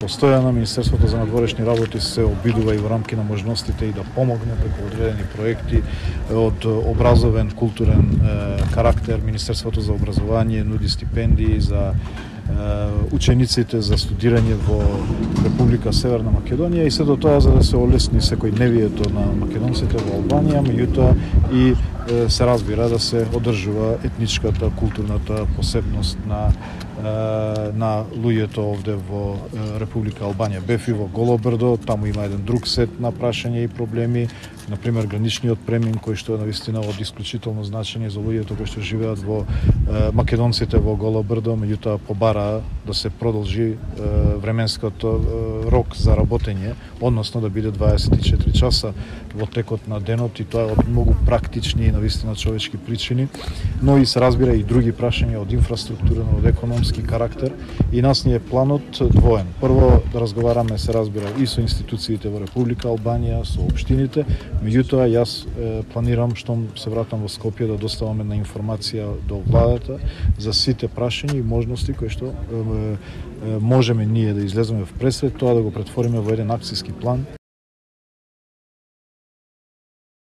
Постојано Министерството за надворешни работи се обидува и во рамки на можностите и да помогне преку одредени проекти од образовен, културен карактер. Министерството за образование нуди стипендии за учениците за студирање во Република Северна Македонија и сето тоа за да се олесни секојдневието на македонците во Албанија, меѓутоа и се разбира да се одржува етничката, културната посебност на луѓето овде во Република Албанија. Бев и во Голобрдо, таму има еден друг сет на прашања и проблеми, например граничниот премин кој што е навистина од исклучително значење за луѓето кои што живеат во македонците во Голобрдо, меѓутоа побара да се продолжи временското рок за работење, односно да биде 24 часа во текот на денот и тоа од многу практични и навистина човечки причини, но и се разбира и други прашања од инфраструктурен, од економски карактер и нас ни е планот двоен. Прво да разговараме, се разбира, и со институциите во Република Албанија, со општините, меѓутоа јас планирам штом се вратам во Скопје да доставам една информација до владата за сите прашања и можности кои што можеме ние да излеземе в пресред, тоа да го претвориме во еден акцијски план.